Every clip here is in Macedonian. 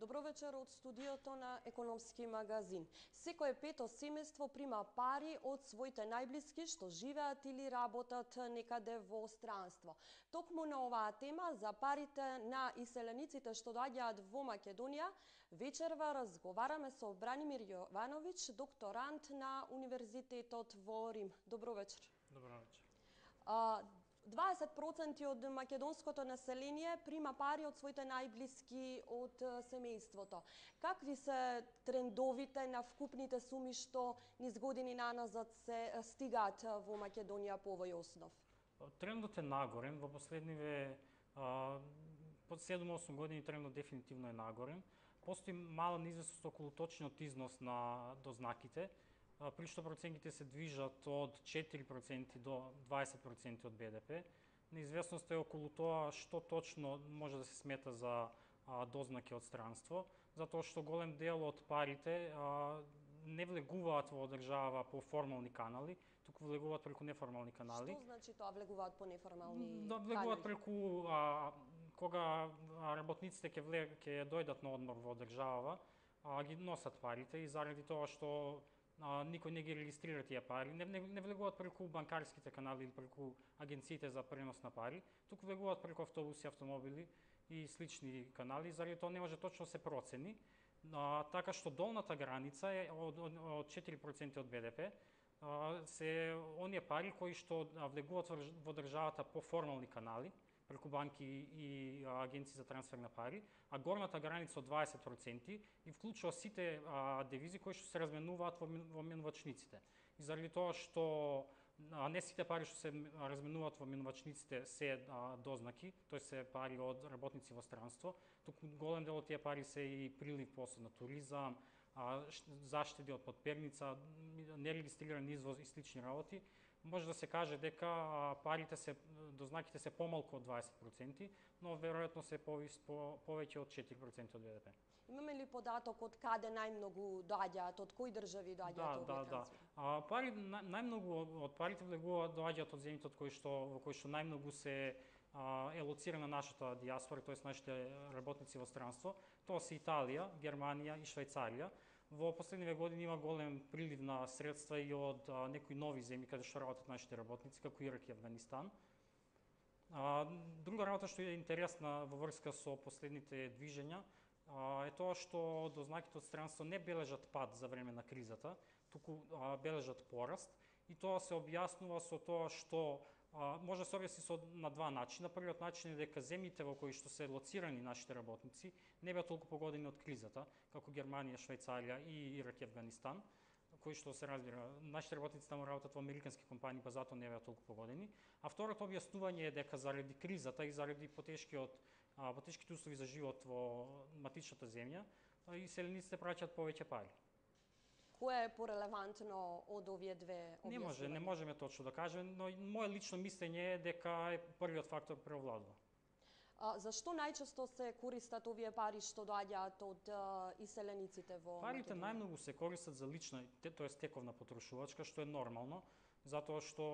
Добро вечер од студиото на Економски магазин. Секое пето семејство прима пари од своите најблиски што живеат или работат некаде во странство. Токму на оваа тема за парите на иселениците што доаѓаат во Македонија, вечерва разговараме со Бранимир Јовановиќ, докторант на Универзитетот во Рим. Добро вечер. Добро вечер. 20% од македонското население прима пари од своите најблиски од семејството. Какви се трендовите на вкупните суми што низ години наназад се стигаат во Македонија по овој основ? Трендот е нагорен, во последниве под 7-8 години трендот дефинитивно е нагорен. Постои мала неизвестност околу точниот износ на дознаките, при што процентите се движат од 4% до 20% од БДП. Неизвестноста е околу тоа што точно може да се смета за дознаки од странство, затоа што голем дел од парите не влегуваат во држава по формални канали, туку влегуваат преку неформални канали. Што значи тоа влегуваат по неформални канали? Влегуваат преку кога работниците ќе дојдат на одмор во држава, ги носат парите и заради тоа што никој не ги регистрира тие пари, не влегуваат преку банкарските канали или преку агенциите за пренос на пари, туку влегуваат преку автобуси, автомобили и слични канали, заради тоа не може точно се процени. Така што долната граница е од 4% од БДП, се оние пари кои што влегуваат во државата по формални канали, преку банки и агенции за трансфер на пари, а горната граница од 20% и вклучува сите девизи кои што се разменуваат во менувачниците. И заради тоа што не сите пари што се разменуваат во менувачниците се дознаки, тој се пари од работници во странство, туку голем дел од тие пари се и прилив после на туризам, заштеди од подперница, нерегистриран извоз и слични работи. Може да се каже дека дознаките се помалку од 20%, но веројатно се повеќе од 4% од БДП. Имаме ли податок од каде најмногу доаѓаат, од кои држави доаѓаат овие трансфери? Најмногу од парите доаѓаат од земјите во кои што најмногу се е лоцирана нашата диаспора, тоест нашите работници во странство. Тоа се Италија, Германија и Швајцарија. Во последниве години има голем прилив на средства и од некои нови земји каде што работат нашите работници, како Ирак и Авганистан. Друга работа што е интересна во врска со последните движења е тоа што дознаките од странство не бележат пад за време на кризата, туку бележат пораст, и тоа се објаснува со тоа што може да се објасни на два начина. Првиот начин е дека земјите во кои што се лоцирани нашите работници не беа толку погодени од кризата, како Германија, Швајцарија и Ирак и Авганистан, кои што се разбира, нашите работници таму работат во американски компании, па затоа не беа толку погодени. А второто објаснување е дека заради кризата и заради потешките услови за живот во матичната земја, иселениците праќаат повеќе пари. Кое е порелевантно од овие две објаснувања? Не можеме точно да кажеме, но моје лично мислење е дека првиот фактор преовладува. Зашто најчесто се користат овие пари што доаѓаат од иселениците во Македонија? Парите најмногу се користат за лична, тоест тековна потрошувачка, што е нормално, затоа што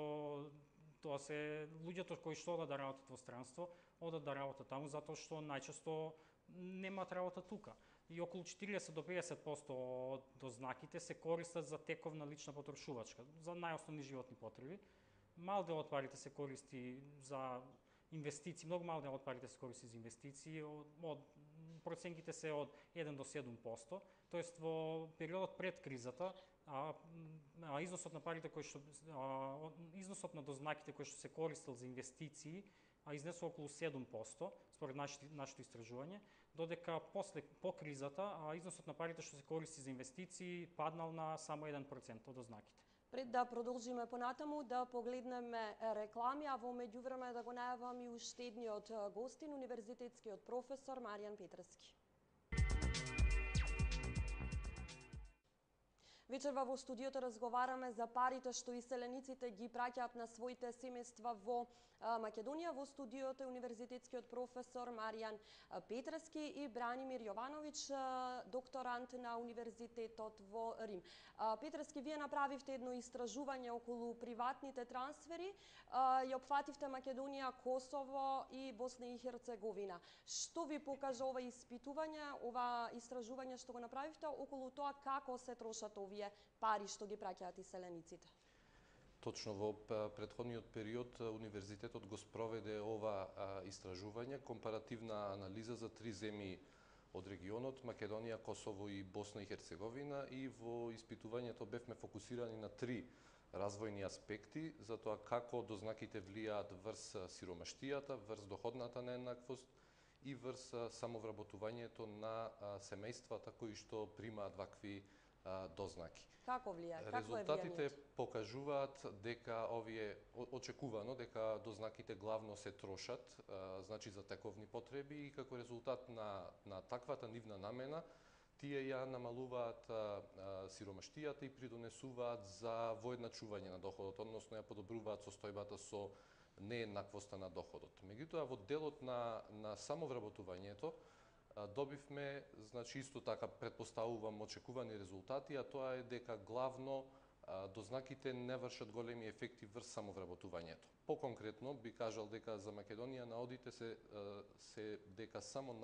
тоа се луѓето кои што одат да работат во странство, одат да работат таму затоа што најчесто немаат работа тука. И околу 40 до 50% од дознаките се користат за тековна лична потрошувачка, за најосновни животни потреби. Мал дел од парите се користи за инвестиции, многу мал дел од парите се користи за инвестиции, проценките се од 1 до 7%, тоест во периодот пред кризата, износот на парите износот на дознаките кои што се користел за инвестиции изнесува околу 7% според нашето истражување, додека по кризата износот на парите што се користи за инвестиции паднал на само 1% од дознаките. Пред да продолжиме понатаму, да погледнеме реклами, а во меѓувреме да го најавам и уште едниот гостин, универзитетскиот професор Маријан Петровски. Вечерва во студиото разговараме за парите што иселениците ги праќаат на своите семејства во Македонија. Во студиото е универзитетскиот професор Маријан Петрески и Бранимир Јовановиќ, докторант на Универзитетот во Рим. Петрески, вие направивте едно истражување околу приватните трансфери, ја опфативте Македонија, Косово и Босна и Херцеговина. Што ви покажа ова испитување, ова истражување што го направивте околу тоа како се трошат овие пари што ги праќаат иселениците? Точно во претходниот период универзитетот го спроведе ова истражување, компаративна анализа за 3 земји од регионот, Македонија, Косово и Босна и Херцеговина, и во испитувањето бевме фокусирани на 3 развојни аспекти за тоа како дознаките влијаат врз сиромаштијата, врз доходната нееднаквост и врз самовработувањето на семејствата кои што примаат вакви дознаки. Како влијае? Резултатите покажуваат дека овие очекувано дека дознаките главно се трошат, значи за тековни потреби, и како резултат на таквата нивна намена тие ја намалуваат сиромаштијата и придонесуваат за воедначување на доходот, односно ја подобруваат состојбата со нееднаквоста на доходот. Меѓутоа, во делот на самовработувањето добивме, значи исто така претпоставувам, очекувани резултати, а тоа е дека главно дознаките не вршат големи ефекти врз самовработувањето. Поконкретно би кажал дека за Македонија наодите се дека само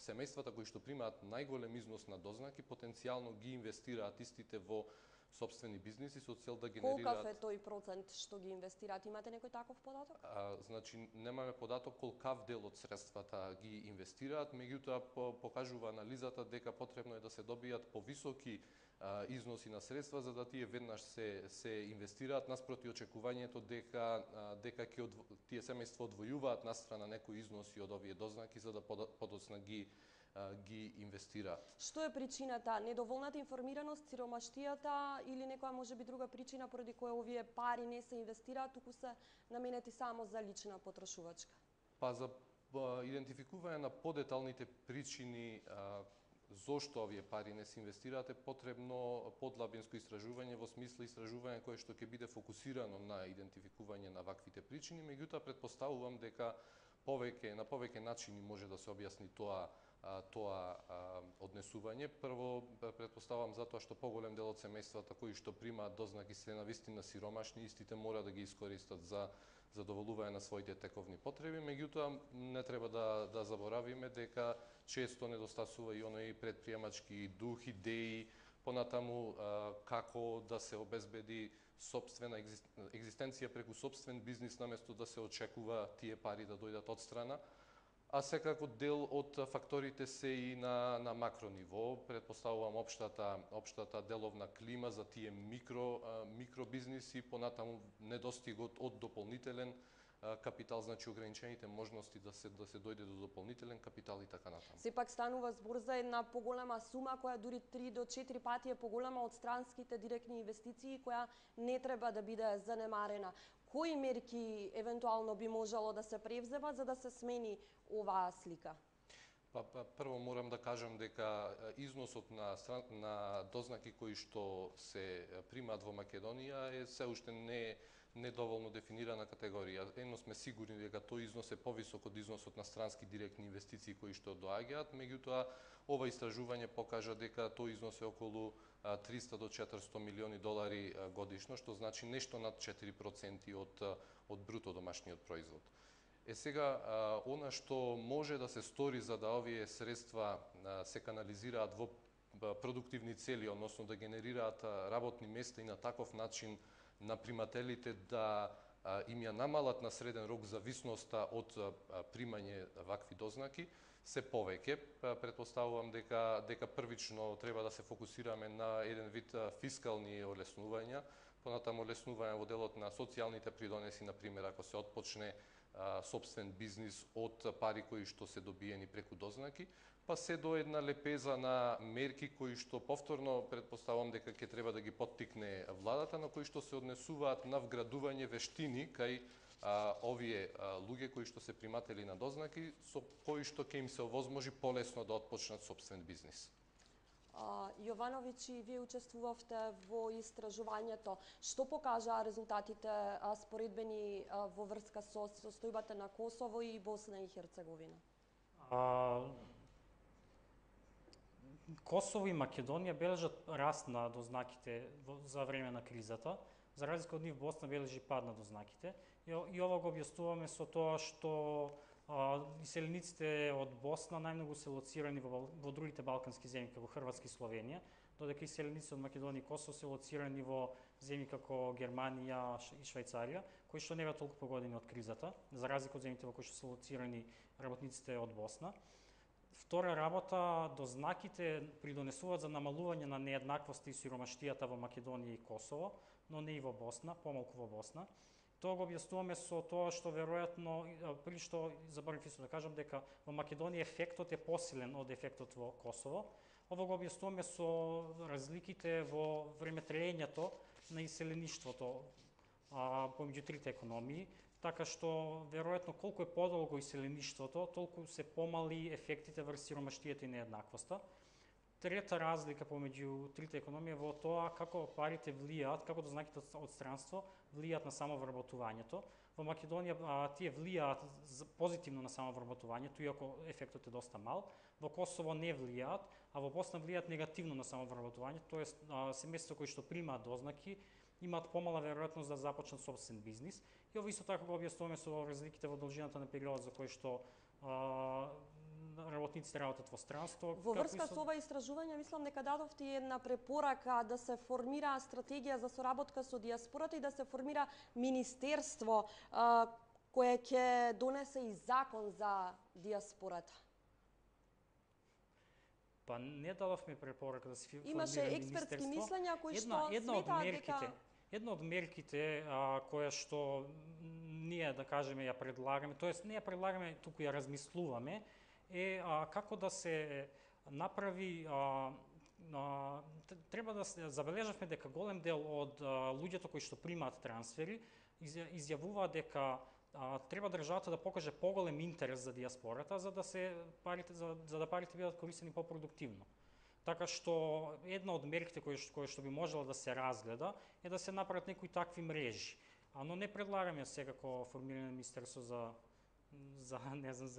семејствата кои што примаат најголем износ на дознаки потенцијално ги инвестираат истите во сопствени бизниси со цел да генерираат. Колкав е тој процент што ги инвестираат? Имате некој таков податок? Значи немаме податок колкав дел од средствата ги инвестираат, меѓутоа покажува анализата дека потребно е да се добијат повисоки износи на средства за да тие веднаш се инвестираат, наспроти очекувањето дека тие семејства одвојуваат настрана некои износи од овие дознаки за да подоцна ги инвестираат. Што е причината? Недоволната информираност, сиромаштијата или некоја можеби друга причина поради која овие пари не се инвестираат, туку се наменети само за лична потрошувачка? Па за идентификување на подеталните причини зошто овие пари не се инвестираат е потребно подлабинско истражување, во смисла истражување кое што ќе биде фокусирано на идентификување на ваквите причини, меѓутоа претпоставувам дека на повеќе начини може да се објасни тоа однесување. Прво, претпоставам затоа што поголем дел од семејствата кои што примаат дознаки се навистина сиромашни, истите мора да ги искористат за задоволување на своите тековни потреби, меѓутоа не треба да заборавиме дека често недостасува и оној предприемачки дух, идеи, понатаму како да се обезбеди сопствена екзистенција преку сопствен бизнис наместо да се очекува тие пари да дојдат од страна. А секако дел од факторите се и на макро ниво. Претпоставувам општата деловна клима за тие микробизниси, понатаму недостигот од дополнителен капитал, значи ограничените можности да се дојде до дополнителен капитал и така натаму. Сепак станува збор за една поголема сума која дури 3 до 4 пати е поголема од странските директни инвестиции, која не треба да биде занемарена. Кои мерки евентуално би можело да се превземат за да се смени оваа слика? Прво морам да кажам дека износот на дознаки кои што се примаат во Македонија е се уште не доволно дефинирана категорија. Едно сме сигурни дека тој износ е повисок од износот на странски директни инвестиции кои што доаѓаат, меѓутоа ова истражување покажа дека тој износ е околу 300 до 400 милиони долари годишно, што значи нешто над 4% од бруто домашниот производ. Сега, она што може да се стори за да овие средства се канализираат во продуктивни цели, односно да генерираат работни места и на таков начин на примателите да им ја намалат на среден рок зависноста од примање вакви дознаки, се повеќе. Претпоставувам дека првично треба да се фокусираме на еден вид фискални олеснувања, понатаму олеснување во делот на социјалните придонеси, например, ако се отпочне сопствен бизнис од пари кои што се добиени преку дознаки, па се до една лепеза на мерки кои што повторно претпоставувам дека ќе треба да ги поттикне владата, на кои што се однесуваат на вградување вештини кај овие луѓе кои што се приматели на дознаки, со кои што ќе им се овозможи полесно да отпочнат сопствен бизнис. Јовановиќ, и вие учествувавте во истражувањето. Што покажаа резултатите споредбени во врска со состојбата на Косово и Босна и Херцеговина? Косово и Македонија бележат раст на дознаките за време на кризата, за разлика од нив Босна бележи пад на дознаките. И ова го објаснуваме со тоа што иселениците од Босна најмногу се лоцирани во другите балкански земји, како Хрватска и Словенија, додека иселениците од Македонија и Косово се лоцирани во земји како Германија и Швајцарија, кои што не беа толку погодени од кризата, за разлика од земјите во кои што се лоцирани работниците од Босна. Втора работа, дознаките придонесуваат за намалување на нееднаквоста и сиромаштијата во Македонија и Косово, но не и во Босна, помалку во Босна. Тоа го објаснуваме со тоа што веројатно, при што заборавив исто да кажам дека во Македонија ефектот е посилен од ефектот во Косово. Ова го објаснуваме со разликите во времетраењето на иселеништвото помеѓу трите економии, така што веројатно колку е подолго иселеништвото, толку се помали ефектите врз сиромаштијата и нееднаквоста. Трета разлика помеѓу трите економии во тоа како парите влијаат, како дознаките од странство влијаат на самовработувањето. Во Македонија тие влијаат позитивно на самовработувањето, иако ефектот е доста мал. Во Косово не влијаат, а во Босна влијаат негативно на самовработувањето, тоест семејства кои што примаат дознаки имаат помала веројатност да започнат собствен бизнис. И ова исто така го објаснуваме со разликите во должината на периодот за кој што работниците работат во странство. Во врска со ова истражување, мислам дека дадовте една препорака да се формира стратегија за соработка со дијаспората и да се формира министерство кое ќе донесе и закон за дијаспората. Па не дадовме препорака да се формира министерство. Имаше експертски мислења кои што сметаат дека една од мерките која што ние, да кажеме, ја предлагаме, тоест не ја предлагаме, туку ја размислуваме, е како да се направи, треба да се забележавме дека голем дел од луѓето кои што примаат трансфери изјавуваат дека треба државата да покаже поголем интерес за дијаспората за да парите бидат користени попродуктивно. Така што една од мерките кои што би можела да се разгледа е да се направат некои такви мрежи. Но не предлагаме секако формирање на министерство за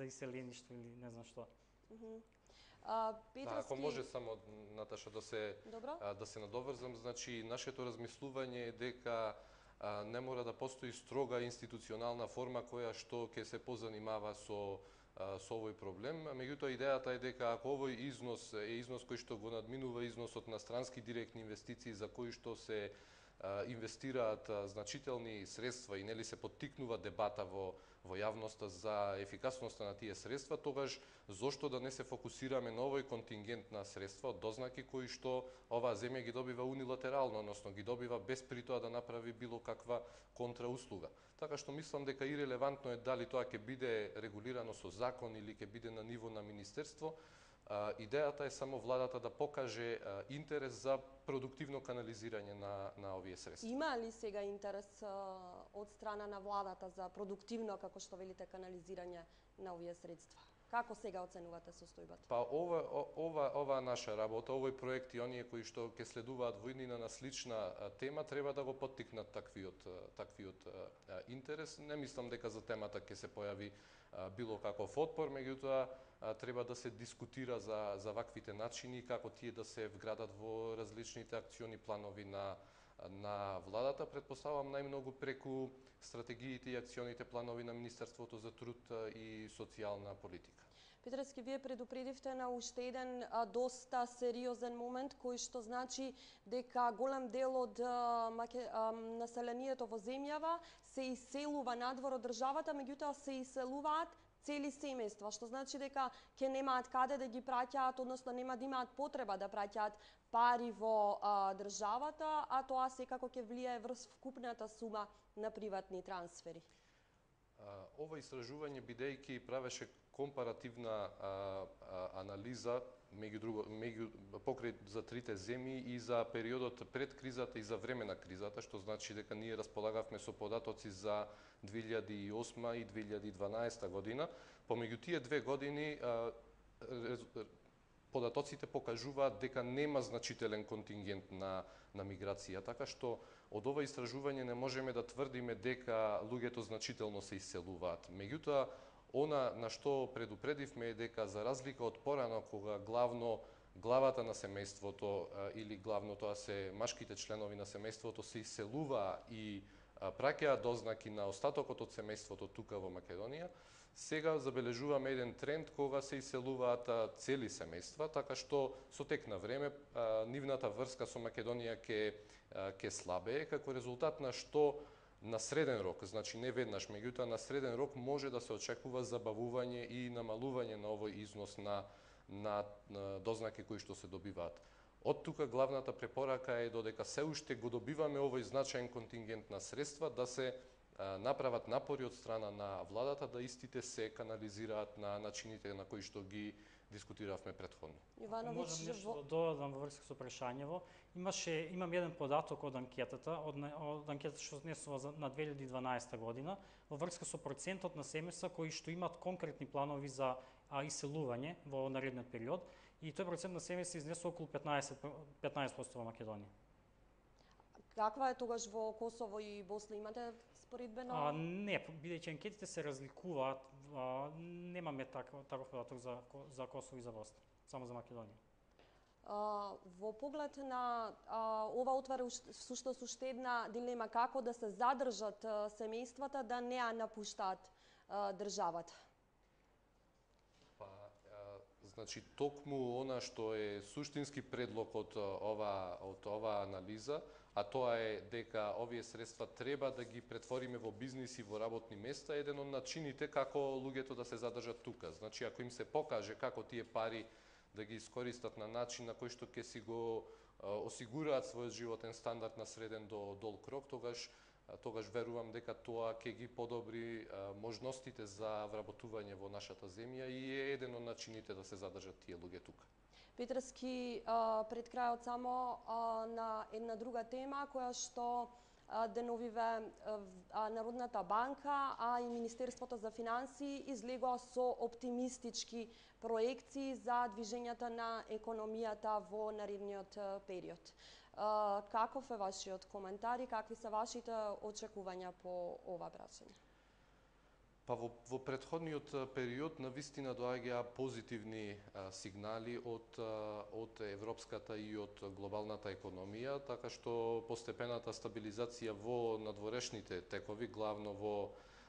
иселеништво или не знам што. Ако може само, Наташа, да се надоврзам, значи нашето размислување е дека не мора да постои строга институционална форма која што ќе се позанимава со овој проблем. Меѓутоа, идејата е дека ако овој износ е износ кој што го надминува износот на странски директни инвестиции за кои што се инвестираат значителни средства и нели се поттикнува дебата во јавноста за ефикасноста на тие средства, тогаш зошто да не се фокусираме на овој контингент на средства од дознаки кои што оваа земја ги добива унилатерално, односно ги добива без при тоа да направи било каква контрауслуга. Така што мислам дека и релевантно е дали тоа ќе биде регулирано со закон или ќе биде на ниво на министерство. Идејата е само владата да покаже интерес за продуктивно канализирање на овие средства. Има ли сега интерес од страна на владата за продуктивно, како што велите, канализирање на овие средства? Како сега оценувате состојбата? Па ова наша работа, овој проект и оние кои што ќе следуваат во иднина на слична тема треба да го поттикнат таквиот интерес. Не мислам дека за темата ќе се појави било каков отпор, меѓутоа треба да се дискутира за ваквите начини како тие да се вградат во различните акциони планови на владата. Предпоставам најмногу преку стратегиите и акционите планови на Министерството за труд и социјална политика. Петрески, вие предупредивте на уште еден доста сериозен момент, кој што значи дека голем дел од населението во земјава се иселува надвор од државата, меѓутоа се иселуваат цели семејства, што значи дека ќе немаат каде да ги праќаат, односно нема да имаат потреба да праќаат пари во државата, а тоа секако ќе влијае врз вкупната сума на приватни трансфери. Ова истражување, бидејќи правеше компаративна анализа покрај за трите земји и за периодот пред кризата и за време на кризата, што значи дека ние располагавме со податоци за 2008 и 2012 година. Помеѓу тие две години податоците покажуваат дека нема значителен контингент на миграција, така што од ова истражување не можеме да тврдиме дека луѓето значително се иселуваат. Меѓутоа, она на што предупредивме е дека за разлика од порано кога главата на семејството или главно тоа се машките членови на семејството се иселуваа и праќаат дознаки на остатокот од семејството тука во Македонија, сега забележуваме еден тренд кога се иселуваат цели семејства, така што со тек на време нивната врска со Македонија ќе слабее, како резултат на што на среден рок, значи не веднаш, меѓутоа на среден рок може да се очекува забавување и намалување на овој износ на дознаки кои што се добиваат. Од тука главната препорака е додека се уште го добиваме овој значаен контингент на средства, да се направат напори од страна на владата да истите се канализираат на начините на кои што ги дискутиравме претходно. Ивановиќ, можам нешто да додадам во врска со прашањево. Имам еден податок од анкетата, од анкетата што снесува на 2012 година, во врска со процентот на семејства кои што имаат конкретни планови за иселување во наредниот период, и тој процент на семејства изнесува околу 15% во Македонија. Каква е тогаш во Косово и Босна? Имате споредбено? Не, бидејќи анкетите се разликуваат, немаме таков податок за Косово и за Босна, само за Македонија. Во поглед на ова отвара всушност уште една дилема како да се задржат семејствата да не ја напуштаат државата. Значи, токму она што е суштински предлог од ова анализа, а тоа е дека овие средства треба да ги претвориме во бизнис и во работни места, еден од начините како луѓето да се задржат тука. Значи, ако им се покаже како тие пари да ги искористат на начин на кој што ќе си го осигураат својот животен стандард на среден до долг рок, тогаш верувам дека тоа ќе ги подобри можностите за вработување во нашата земја и е еден од начините да се задржат тие луѓе тука. Петарски, пред крајот само на една друга тема која што деновиве Народната банка, а и Министерството за финансии излегоа со оптимистички проекции за движењата на економијата во наредниот период. Каков е вашиот коментар и какви се вашите очекувања по ова прашање? Па во претходниот период навистина доаѓаа позитивни сигнали од европската и од глобалната економија, така што постепената стабилизација во надворешните текови, главно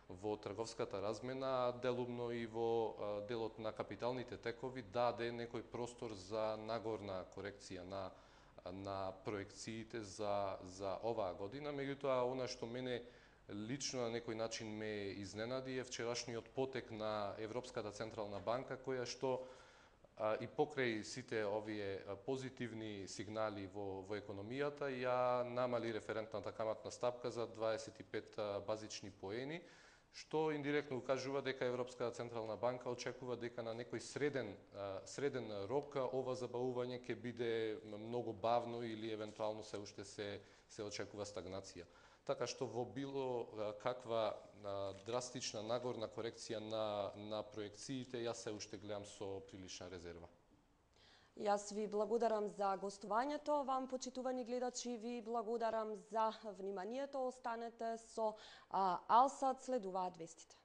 во трговската размена, делумно и во делот на капиталните текови, даде некој простор за нагорна корекција на проекциите за оваа година. Меѓутоа, она што мене лично на некој начин ме изненади е вчерашниот потек на Европската централна банка, која што и покрај сите овие позитивни сигнали во економијата ја намали референтната каматна стапка за 25 базични поени, што индиректно укажува дека Европската централна банка очекува дека на некој среден рок ова забавување ќе биде многу бавно или евентуално се уште се очекува стагнација. Така што во било каква драстична нагорна корекција на проекциите, јас се уште гледам со прилична резерва. Јас ви благодарам за гостувањето, вам почитувани гледачи ви благодарам за вниманието, останете со Алсат, следуваат вестите.